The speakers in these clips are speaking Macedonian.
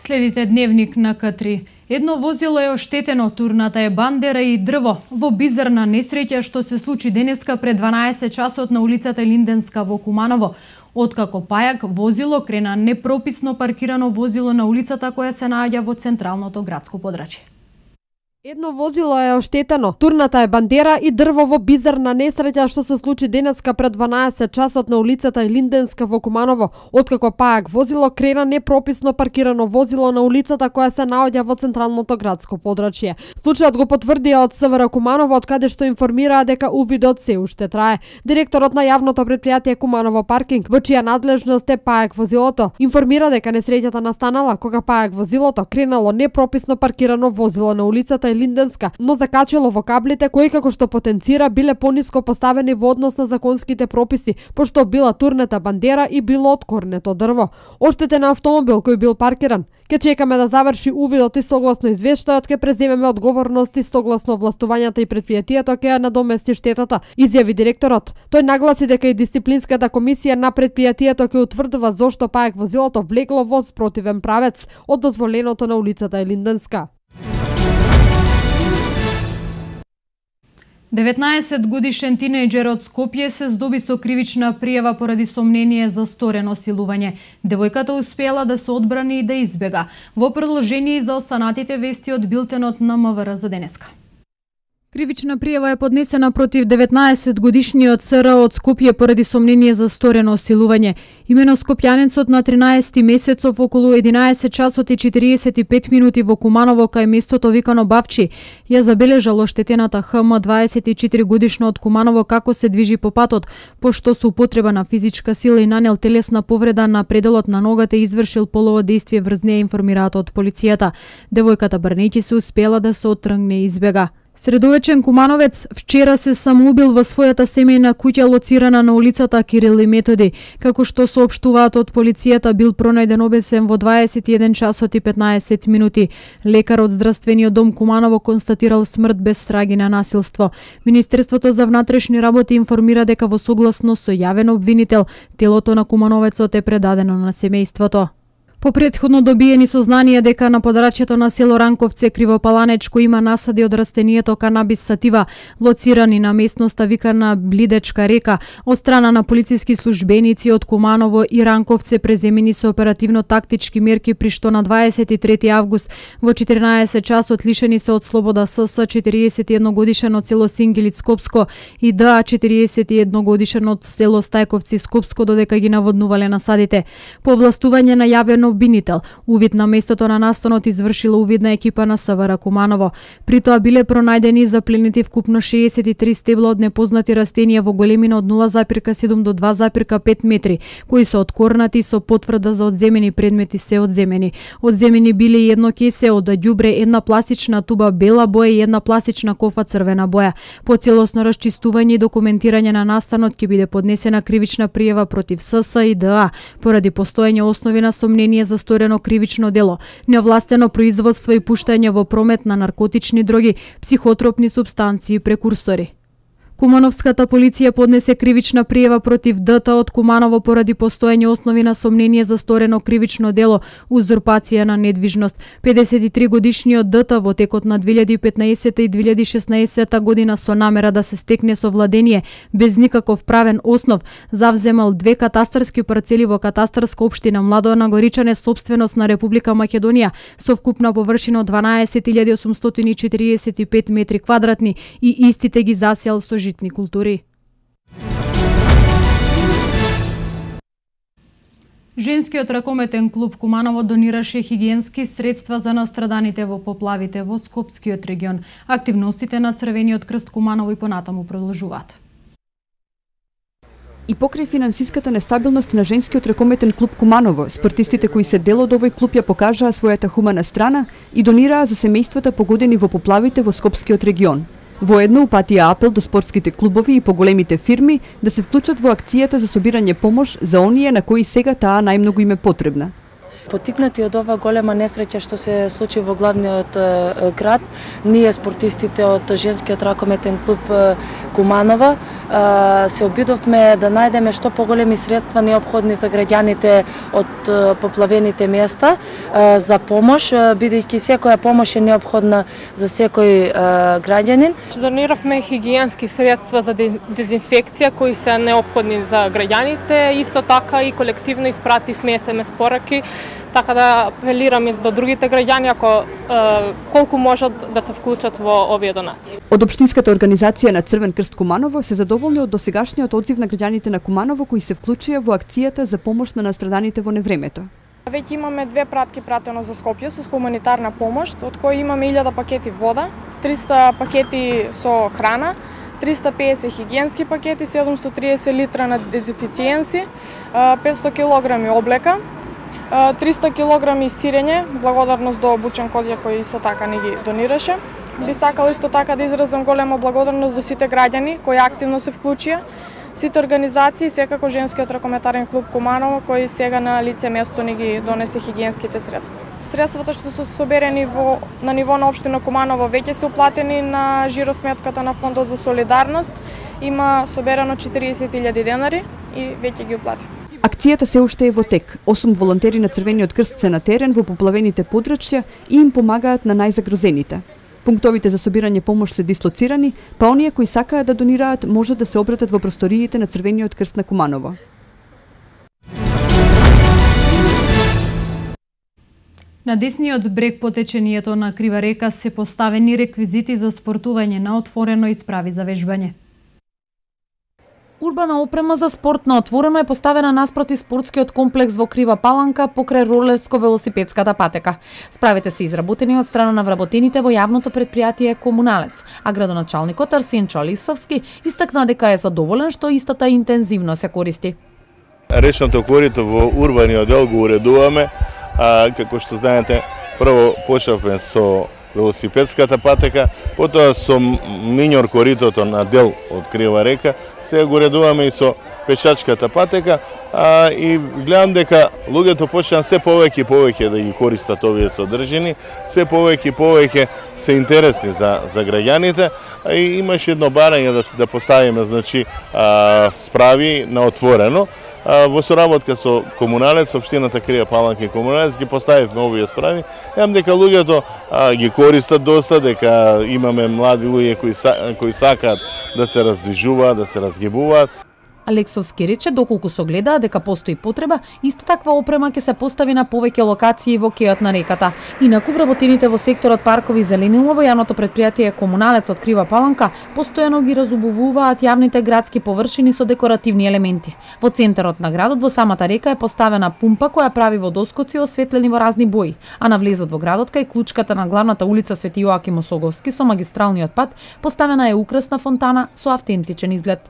Следите Дневник на К3. Едно возило е оштетено, турната е бандера и дрво. Во бизарна несреќа што се случи денеска пред 12 часот на улицата Линденска во Куманово. Откако пајак, возило крена непрописно паркирано возило на улицата која се наоѓа во централното градско подрачје. Едно возило е оштетено, турната е бандера и дрво во бизарна несреќа што се случи денеска пред 12 часот на улицата Линденска во Куманово. Откако пајак возило крена непрописно паркирано возило на улицата која се наоѓа во централното градско подрачје. Случајот го потврдија од СВР Куманово, од каде што информираа дека увидот се уште трае. Директорот на јавното претпријатие Куманово паркинг, во чија надлежност е пајак возилото, информира дека несреќата настанала кога пајак возилото кренало непрописно паркирано возило на улицата Линденска, но закачило во каблите кои, како што потенцира, биле пониско поставени во однос на законските прописи, пошто била турнета бандера и било откорнето дрво. Оштетен автомобил кој бил паркиран. Ке чекаме да заврши увидот и согласно извештајот ке преземеме одговорности согласно властувањата и предпријатието ќе ја надомести штетата, изјави директорот. Тој нагласи дека и дисциплинската комисија на предпријатието ќе утврдува зошто пајак возилото влегло во спротивен правец од дозволеното на улицата Линденска. 19-годишен тинејџер од Скопје се здоби со кривична пријава поради сомнение за сторено силување. Девојката успела да се одбрани и да избега. Во продолжение и за останатите вести од билтенот на МВР за денеска. Кривична пријава е поднесена против 19-годишниот ЦР од Скопје поради сомнение за сторено силување. Имено скопјанецот на 13 месецов околу 11 часот и 45 минути во Куманово кај местото викано Бавчи ја забележал оштетената ХМ 24 годишно од Куманово како се движи по патот, пошто со употреба на физичка сила и нанел телесна повреда на пределот на ногата и извршил полово дејствие врз неја, информираат од полицијата. Девојката брнејќи се успела да се оттргне и избега. Средовечен кумановец вчера се самоубил во својата семејна куќа лоцирана на улицата Кирил и Методи. Како што соопштуваат од полицијата, бил пронајден обесен во 21 часот и 15 минути. Лекар од здравствениот дом Куманово констатирал смрт без траги на насилство. Министерството за внатрешни работи информира дека во согласно со јавен обвинител, телото на кумановецот е предадено на семејството. По претходно добиени сознанија дека на подрачјето на село Ранковце Кривопаланечко има насади од растението канабис сатива, лоцирани на местноста викана Блидечка река, од страна на полициски службеници од Куманово и Ранковце преземени со оперативно-тактички мерки, при што на 23 август во 14 часот лишени се од слобода СС 41 годишен од село Сингилиц Скопско и ДА 41 годишен од село Стајковци Скопско, додека ги наводнувале насадите. По властување на јавен обвинител, увид на местото на настанот извршила увидна екипа на СВР Куманово. При тоа биле пронајдени и запленети вкупно 63 стебла од непознати растенија во големина од 0,7 до 2,5 метри, кои се откорнати со потврда за одземени предмети се одземени. Одземени биле и едно кесе од ѓубре, една пластична туба бела боја и една пластична кофа црвена боја. По целосно расчистување и документирање на настанот ќе биде поднесена кривична пријава против СС и ДА поради постоење основи на сомнение за сторено кривично дело, неовластено производство и пуштање во промет на наркотични дроги, психотропни супстанции и прекурсори. Кумановската полиција поднесе кривична пријава против ДТ од Куманово поради постоење основи на сомнение за сторено кривично дело, узурпација на недвижност. 53 годишниот ДТ во текот на 2015 и 2016 година со намера да се стекне совладение без никаков правен основ, завземал 2 катастарски парцели во катастарска општина Младоена Горичане, собственост на Република Македонија, со вкупна површина од 12.845 метри квадратни и истите ги засеал со житни култури. Женскиот ракометен клуб Куманово донираше хигиенски средства за настраданите во поплавите во Скопскиот регион. Активностите на Црвениот крст Куманово и понатаму продолжуваат. И покрај финансиската нестабилност на Женскиот ракометен клуб Куманово, спортистите кои се дел од овој клуб ја покажаа својата хумана страна и донираа за семејствата погодени во поплавите во Скопскиот регион. Воедно упатија апел до спортските клубови и поголемите фирми да се вклучат во акцијата за собирање помош за оние на кои сега таа најмногу им е потребна. Потикнати од ова голема несреќа што се случи во главниот град, ние спортистите од Женскиот ракометен клуб Куманово се обидовме да најдеме што поголеми средства неопходни за граѓаните од поплавените места за помош, бидејќи секоја помош е неопходна за секој граѓанин. Дониравме хигиенски средства за дезинфекција кои се неопходни за граѓаните, исто така и колективно испративме SMS пораки, така да апелирам и до другите граѓани ако колку можат да се вклучат во овие донации. Од Општинската организација на Црвен крст Куманово се задоволни од досегашниот одзив на граѓаните на Куманово кои се вклучија во акцијата за помош на настраданите во невремето. Веќе имаме 2 пратки пратено за Скопје со хуманитарна помош, од кои имаме 1000 пакети вода, 300 пакети со храна, 350 хигиенски пакети, 730 литра на дезинфициенси, 500 килограми облека, 300 килограми сирење, благодарност до Бучен Козја кој исто така не ги донираше. Би сакала исто така да изразам голема благодарност до сите граѓани кои активно се вклучија, сите организации, секако Женскиот ракометарен клуб Куманово кој сега на лице место ни ги донесе хигиенските средства. Средствата што се соберени на ниво на општина Куманово веќе се уплатени на жиросметката на Фондот за солидарност. Има соберено 40.000 денари и веќе ги уплатив. Акцијата се уште е во тек. 8 волонтери на Црвениот крст се на терен во поплавените подрачја и им помагаат на најзагрозените. Пунктовите за собирање помош се дислоцирани, па оние кои сакаат да донираат можат да се обратат во просториите на Црвениот крст на Куманово. На десниот брег по течението на Крива река се поставени реквизити за спортување на отворено и справи за вежбање. Урбана опрема за спорт на отворено е поставена наспроти спортскиот комплекс во Крива Паланка покрај ролерско-велосипедската патека. Справите се изработени од страна на вработените во јавното предпријатие Комуналец, а градоначалникот Арсен Чолисовски истакна дека е задоволен што истата интензивно се користи. Речното корито во урбаниот дел го уредуваме, како што знаете, прво почнавме со велосипедската патека, потоа со миньор коритото на дел од Крива река, сега го редуваме и со пешачката патека, и гледам дека луѓето почнаа се повеќе и повеќе да ги користат овие содржини, се повеќе и повеќе се интересни за граѓаните, и имаше едно барање да поставиме, значи, справи на отворено. Во соработка со Комуналец, Општината Крива Паланка и Комуналец ги поставивме овие справи. Јам дека луѓето ги користат доста, дека имаме млади луѓе кои сакаат да се раздвижуваат, да се разгибуваат. Алексовски рече доколку согледаа дека постои потреба, иста таква опрема ќе се постави на повеќе локации во кејот на реката. Инаку вработените во секторот паркови и зеленило во јавното предпријатие Комуналец од Крива Паланка постојано ги разубувуваат јавните градски површини со декоративни елементи. Во центарот на градот во самата река е поставена пумпа која прави водоскоци осветлени во разни бои, а на влезот во градот кај клучката на главната улица Свети Јоаким Осоговски со магистралниот пат поставена е украсна фонтана со автентичен изглед.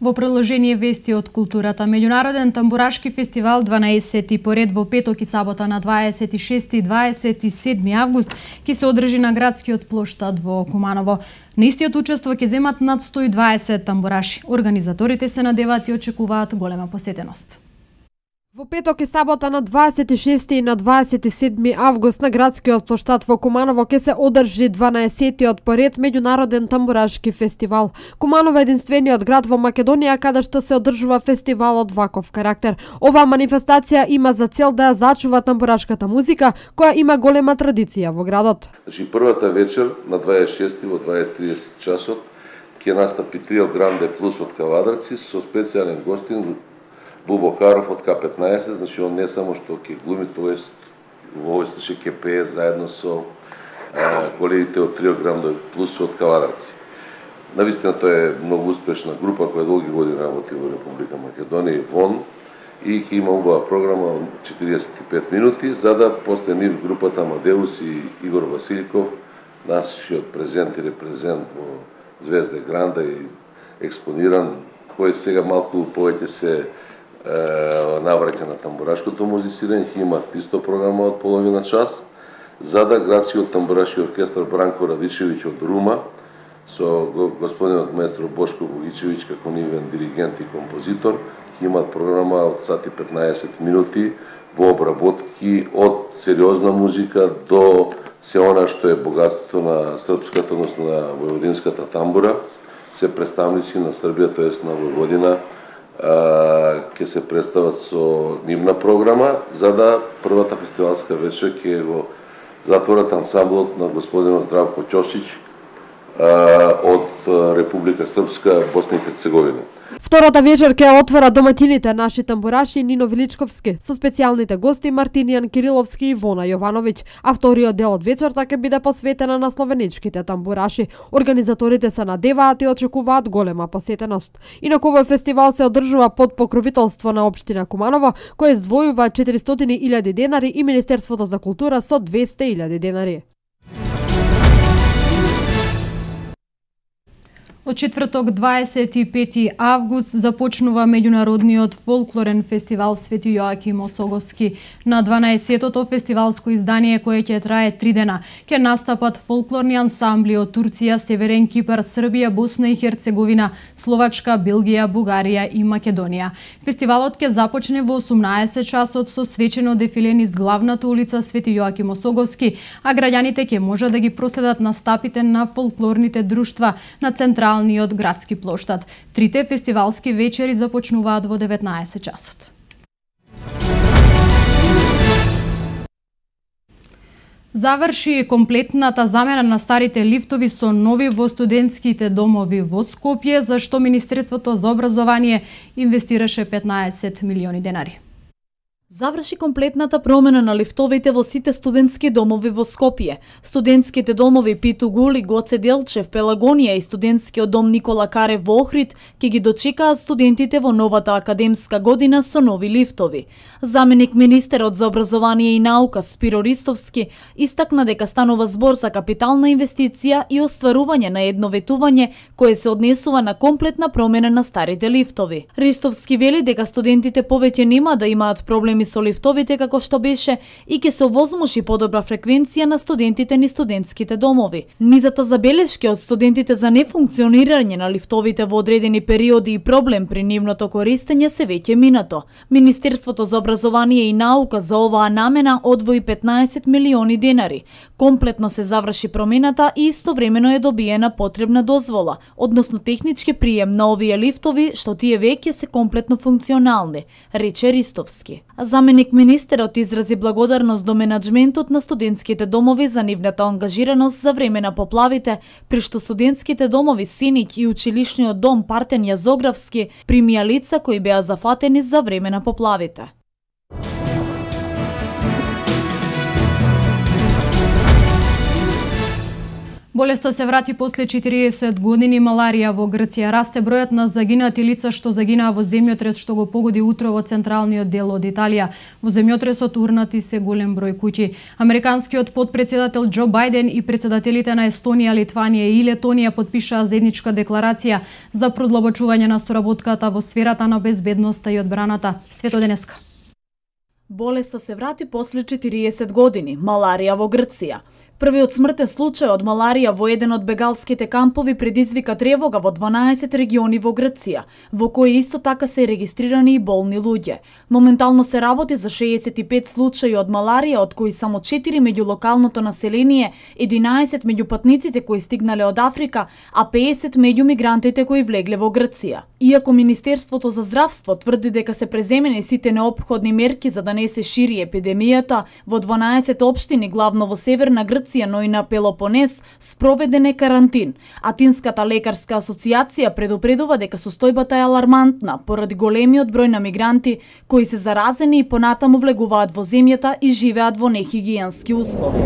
Во продолжение вести од културата, меѓународен тамбурашки фестивал 12 поред во петок и сабота на 26 и 27 август ќе се одржи на градскиот плоштад во Куманово. На истиот учество ќе земат над 120 тамбураши. Организаторите се надеваат и очекуваат голема посетеност. Во петок и сабота на 26 и на 27 август на градскиот плоштад во Куманово ќе се одржи 12-тиот поред меѓународен тамбурашки фестивал. Куманово е единствениот град во Македонија каде што се одржува фестивал од ваков карактер. Оваа манифестација има за цел да ја зачува тамбурашката музика која има голема традиција во градот. Значи првата вечер на 26 во 20:30 часот ќе настапи Трио Гранде Плюс од Кавадарци со специјален гостин Бубо Каров од К15, значи он не само што ќе глуми, тоест во овој случај ќе пее заедно со колегите од Трио Гранде Плюс од Кавадарци. Навистина тоа е многу успешна група која долги години работи во Република Македонија и вон, и ќе има убава програма 45 минути, за да после нив групата Амадеус и Игор Васильков, нашиот презент и репрезент во Звезда Гранда и експониран, кој сега малку повеќе се навраќа на тамбурашкото музицирање, ќе имат исто програма од половина час, за да градскиот тамбурашки оркестар Бранко Радичевиќ од Рума, со господинот маестро Бошко Богичевиќ како нивен диригент и композитор, ќе имат програма од сати 15 минути во обработки од сериозна музика до се она што е богатството на српската, односно на војводинската тамбура, се представници на Србија, тоест на Војводина, ќе се представат со нивна програма, за да првата фестивалска вечер ќе го затворат ансамблот на господинот Здравко Ќошич од Република Српска, Босна и Херцеговина. Втората вечер ќе отвора домаќините наши тамбураши Нино Величковски со специјалните гости Мартинијан Кириловски и Вона Јовановиќ, а вториот дел од вечерта ќе биде посветена на словеничките тамбураши. Организаторите се надеваат и очекуваат голема посетеност. Инаку овој фестивал се одржува под покровителство на општина Куманово, кој издвојува 400.000 денари и Министерството за култура со 200.000 денари. Од четврток 25 август започнува меѓународниот фолклорен фестивал Свети Јоаким Осоговски. На 12-тото фестивалско издание кое ќе трае 3 дена, ќе настапат фолклорни ансамбли од Турција, Северен Кипар, Србија, Босна и Херцеговина, Словачка, Белгија, Бугарија и Македонија. Фестивалот ќе започне во 18 часот со свечено дефиле низ главната улица Свети Јоаким Осоговски, а граѓаните ќе можат да ги проследат настапите на фолклорните друштва на централниот градски плоштад. Трите фестивалски вечери започнуваат во 19 часот. Заврши комплетната замена на старите лифтови со нови во студентските домови во Скопје, за што Министерството за образование инвестираше 15 милиони денари. Заврши комплетната промена на лифтовите во сите студентски домови во Скопје. Студентските домови Питу Гули, Гоце Делчев, Пелагонија и студентскиот дом Никола Карев во Охрид ќе ги дочекаат студентите во новата академска година со нови лифтови. Заменик министерот за образование и наука Спиро Ристовски истакна дека станува збор за капитална инвестиција и остварување на едно ветување кое се однесува на комплетна промена на старите лифтови. Ристовски вели дека студентите повеќе нема да имаат проблеми со лифтовите како што беше и ќе се овозможи подобра фреквенција на студентите низ студентските домови. Низата забелешки од студентите за нефункционирање на лифтовите во одредени периоди и проблем при нивното користење се веќе минато. Министерството за образование и наука за оваа намена одвои 15 милиони денари. Комплетно се заврши промената и истовремено е добиена потребна дозвола, односно технички прием на овие лифтови, што тие веќе се комплетно функционални, рече Ристовски. Заменик министерот изрази благодарност до менаџментот на студентските домови за нивната ангажираност за време на поплавите, при што студентските домови Синич и училишниот дом Партен Јазографски примија лица кои беа зафатени за време на поплавите. Болеста се врати после 40 години. Маларија во Грција. Расте бројот на загинати лица што загинаа во земјотрес што го погоди утро во централниот дел од Италија. Во земјотресот урнати се голем број куќи. Американскиот потпредседател Џо Бајден и председателите на Естонија, Литванија и Летонија подпишаа заедничка декларација за продлабочување на соработката во сферата на безбедноста и одбраната. Свето денеска. Болеста се врати после 40 години. Маларија во Грција. Првиот смртен случај од маларија во еден од бегалските кампови предизвика тревога во 12 региони во Грција, во кои исто така се регистрирани и болни луѓе. Моментално се работи за 65 случаи од маларија, од кои само 4 меѓу локалното население, 11 меѓу патниците кои стигнале од Африка, а 50 меѓу мигрантите кои влегле во Грција. Иако Министерството за здравство тврди дека се преземени сите неопходни мерки за да не се шири епидемијата, во 12 општини, главно во северна Грција, но и на Пелопонес, спроведен е карантин. Атинската лекарска асоциација предупредува дека состојбата е алармантна поради големиот број на мигранти кои се заразени и понатаму влегуваат во земјата и живеат во нехигиенски услови.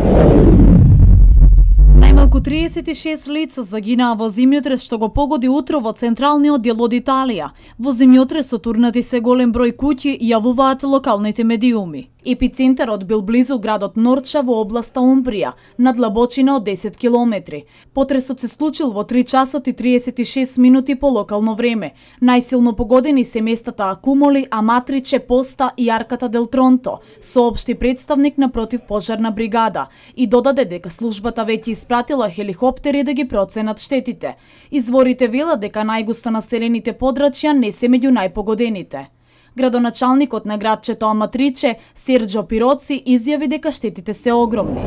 Најмалку 36 лица загинаа во земјотрес што го погоди утро во централниот дел од Италија. Во земјотресот урнати се голем број куќи, јавуваат локалните медиуми. Епицентарот бил близу градот Норча во областа Умбрија, на длабочина од 10 километри. Потресот се случил во 3 часот и 36 минути по локално време. Најсилно погодени се местата Акумоли, Аматриче, Поста и Арката дел Тронто, соопшти представник на противпожарна бригада и додаде дека службата веќе испратила хеликоптери да ги проценат штетите. Изворите велат дека најгусто населените подрачја не се меѓу најпогодените. Градоначалникот на градчето Аматриче, Серџо Пироци, изјави дека штетите се огромни.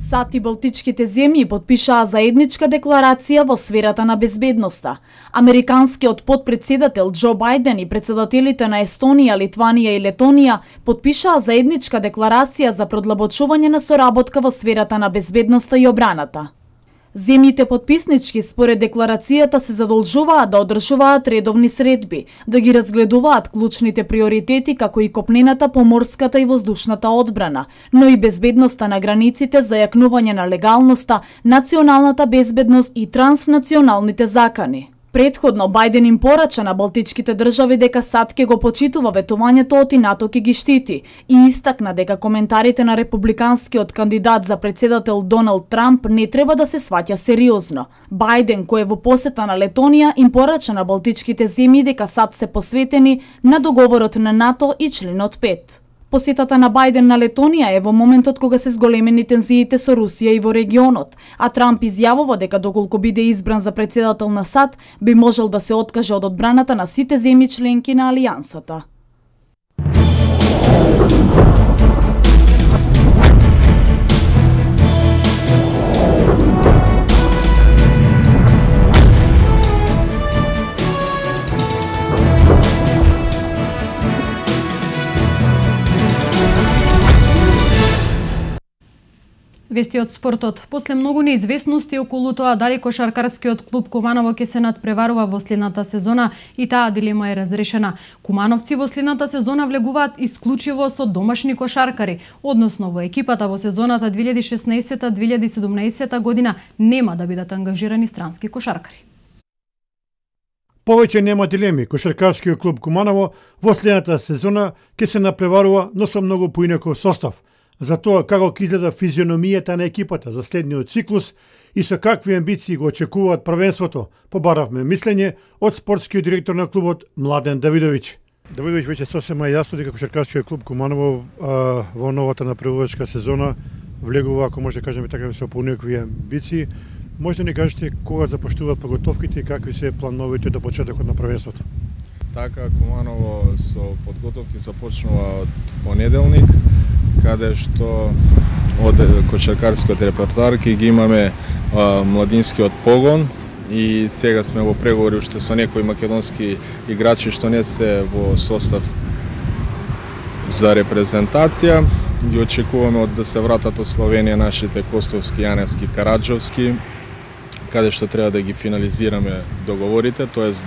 САД и Балтичките земји потпишаа заедничка декларација во сферата на безбедноста. Американскиот потпредседател Џо Бајден и председателите на Естонија, Литванија и Летонија потпишаа заедничка декларација за продлабочување на соработка во сферата на безбедноста и обраната. Земјите потписнички според декларацијата се задолжуваат да одржуваат редовни средби, да ги разгледуваат клучните приоритети како и копнената, поморската и воздушната одбрана, но и безбедноста на границите за јакнување на легалноста, националната безбедност и транснационалните закани. Предходно Бајден им порача на балтичките држави дека САД ќе го почитува ветувањето од и НАТО ќе ги штити и истакна дека коментарите на републиканскиот кандидат за председател Доналд Трамп не треба да се сваќа сериозно. Бајден, кој е во посета на Летонија, им порача на балтичките земји дека САД се посветени на договорот на НАТО и членот 5. Посетата на Бајден на Летонија е во моментот кога се зголемени тензиите со Русија и во регионот, а Трамп изјавува дека доколку биде избран за председател на САД, би можел да се откаже од одбраната на сите земји членки на алијансата. Вести од спортот. После многу неизвестности околу тоа дали кошаркарскиот клуб Куманово ќе се надпреварува во следната сезона и таа дилема е разрешена. Кумановци во следната сезона влегуваат исклучиво со домашни кошаркари, односно во екипата во сезоната 2016-2017 година нема да бидат ангажирани странски кошаркари. Повеќе нема дилеми. Кошаркарскиот клуб Куманово во следната сезона ќе се надпреварува, но со многу поинаков состав. За тоа како ќе изгледа физиономијата на екипата за следниот циклус и со какви амбиции го очекуваат првенството, побаравме мислење од спортскиот директор на клубот Младен Давидовиќ. Давидовиќ, веќе сосема јасно дека кошаркарскиот клуб Куманово во новата напредувачка сезона влегува, ако може да кажеме така, со поинакви амбиции. Може да ни кажете кога започнуваат подготовките и какви се плановите до почетокот на првенството? Така, Куманово со подготовки започнува од понеделник, каде што од кошаркарскиот репертоар ќе ги имаме младинскиот погон и сега сме во преговори уште со некои македонски играчи што не се во состав за репрезентација. Ги очекуваме да се вратат од Словенија нашите Костовски, Јаневски, Караджовски, каде што треба да ги финализираме договорите, тоест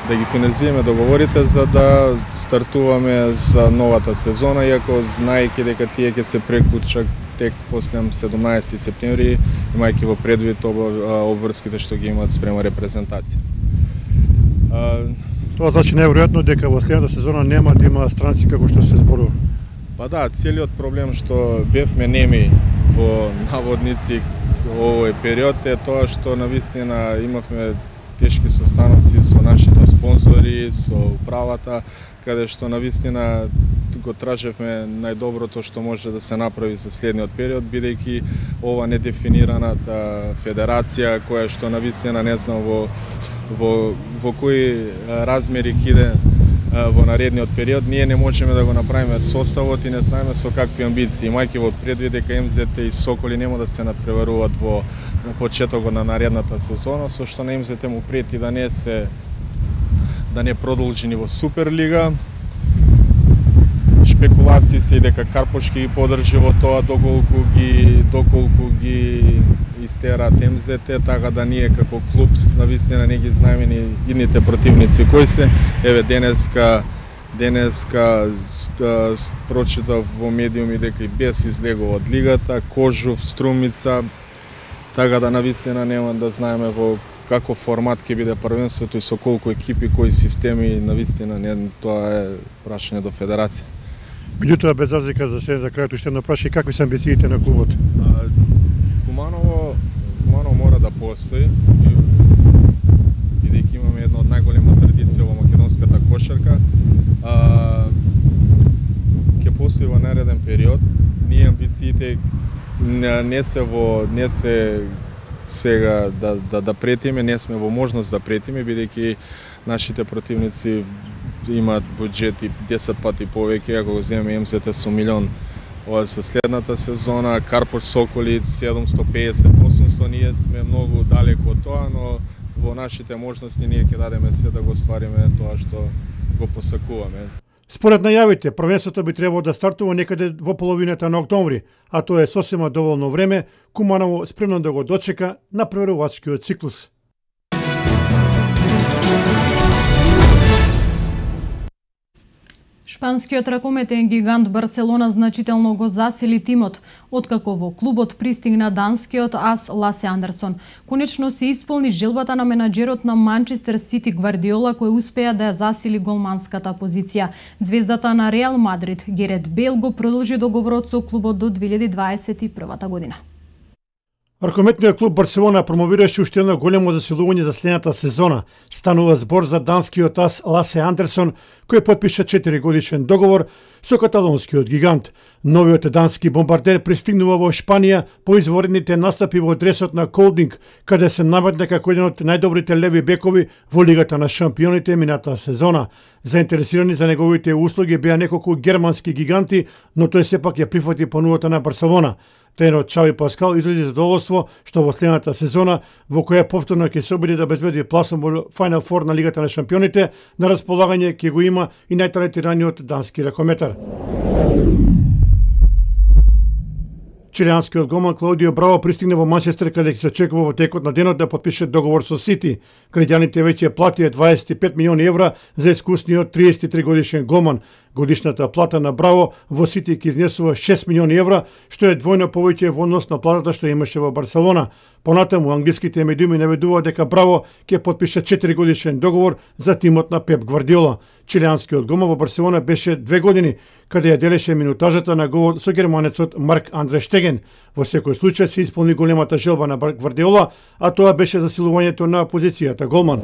да ги финализираме договорите за да стартуваме за новата сезона, иако знаејќи дека тие ќе се преклучат тек после 17 септември, имајќи во предвид обврските што ги имаат спрема репрезентација. Тоа значи неверојатно дека во следната сезона нема да има странци како што се зборува. Па да, целиот проблем што бевме неми во наводници овој период е тоа што навистина имавме тешки состаноци со нашите спонзори, со управата, каде што навистина го тражевме најдоброто што може да се направи за следниот период, бидејќи ова недефинираната федерација која што навистина не знам во кои размери киде во наредниот период, ние не можеме да го направиме составот и не знаеме со какви амбиции, имајќи во предвид дека МЗТ и Соколи нема да се надпреваруваат во почетокот на наредната сезона, со што на МЗТ му прети да не продолжи ни во Суперлига. Шпекулации се и дека Карпош ќе ги подржи во тоа доколку ги истераат МЗТ, така да ние како клуб навистина не ги знаеме ни идните противници кои се. Еве денеска прочитав во медиуми дека и Бес излегува од лигата, Кожув, Струмица, така да навистина нема да знаеме во каков формат ќе биде првенството и со колку екипи, кои системи, навистина тоа е прашање до федерација. Меѓутоа, без разлика за се, за крајот уште едно прашање, какви се амбициите на клубот? Куманово мора да постои, бидејќи имаме една од најголема традиција во македонската кошарка. Ќе постои во нареден период. Ние амбициите не се сега да претиме, не сме во можност да претиме, бидејќи нашите противници имаат буџети 10 пати повеќе, ако го земеме МЗТ со 1 ова за следната сезона, Карпош Соколи 750-800, ние сме многу далеко од тоа, но во нашите можности ние ќе дадеме се да го ствариме тоа што го посакуваме. Според најавите, првенството би требало да стартува некаде во половината на октомври, а тоа е сосема доволно време, Куманово спремно да го дочека на првенувачкиот циклус. Шпанскиот ракометен гигант Барселона значително го засили тимот, откако во клубот пристигна данскиот ас Ласе Андерсон. Конечно се исполни желбата на менаџерот на Манчестер Сити Гвардиола, кој успеа да ја засили голманската позиција. Звездата на Реал Мадрид Герет Бейл го продолжи договорот со клубот до 2021 година. Ракометниот клуб Барселона промовираше уште едно големо засилување за следната сезона. Станува збор за данскиот ас Ласе Андерсон, кој потпиша 4-годишен договор со каталонскиот гигант. Новиот дански бомбардер пристигнува во Шпанија по изворедните настапи во дресот на Колдинг, каде се наметна како еден од најдобрите леви бекови во Лигата на шампионите мината сезона. Заинтересирани за неговите услуги беа неколку германски гиганти, но тој сепак ја прифати понудата на Барселона. Тренерот Чави Паскал изрази задоволство што во следната сезона, во која повторно ќе се обиди да обезбеди пласом во Final Four на Лигата на шампионите, на располагање ќе го има и најталентираниот дански ракометар. Чилијанскиот голман Клаудио Браво пристигна во Манчестер, каде се очекува во текот на денот да потпише договор со Сити. Граѓаните веќе платија 25 милиони евра за искусниот 33 годишен голман. Годишната плата на Браво во Сити ќе изнесува 6 милиони евра, што е двојно повеќе во однос на платата што имаше во Барселона. Понатаму англиските медиуми наведуваат дека Браво ќе потпише 4 годишен договор за тимот на Пеп Гвардиола. Чилијанскиот голман во Барселона беше 2 години, каде ја делеше минутажата на голот со германецот Марк Андре Штеген. Во секој случај се исполни големата желба на Гвардиола, а тоа беше засилувањето на позицијата голман.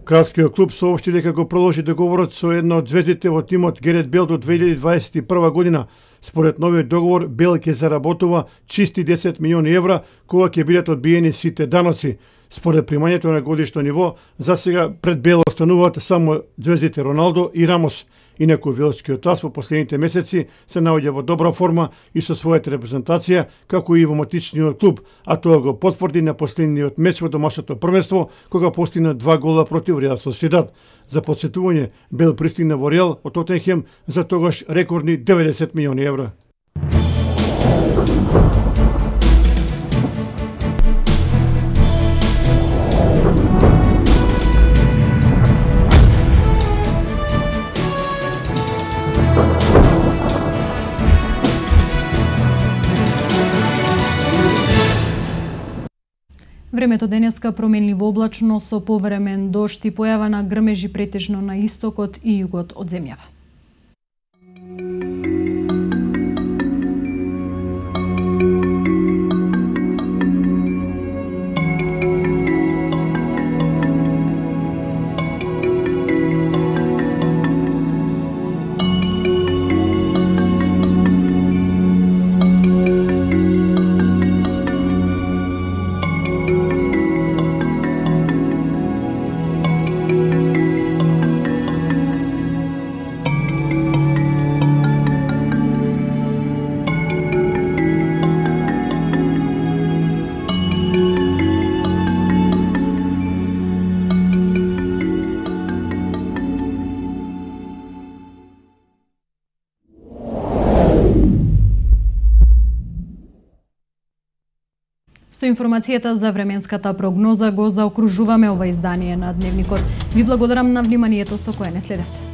Кралскиот клуб соопшти дека го продолжи договорот со една од звездите во тимот Герет Бел до 2021 година. Според новиот договор, Бел ќе заработува чисти 10 милиони евра, кога ќе бидат одбиени сите даноци. Според примањето на годишно ниво, за сега пред Бел остануваат само звездите Роналдо и Рамос. Инаку велскиот ас во последните месеци се наоѓа во добра форма и со својата репрезентација, како и во матичниот клуб, а тоа го потврди на последниот меч во домашното првенство, кога постигна 2 гола против Реал Сосидад. За подсетување, Бел пристигна во Реал од Тоттенхем за тогаш рекордни 90 милиони евра. Времето денеска променливо облачно со повремен дожд и појава на грмежи претежно на истокот и југот од земјава. Со информацијата за временската прогноза го заокружуваме ова издание на Дневникот. Ви благодарам на вниманието со кое не следевте.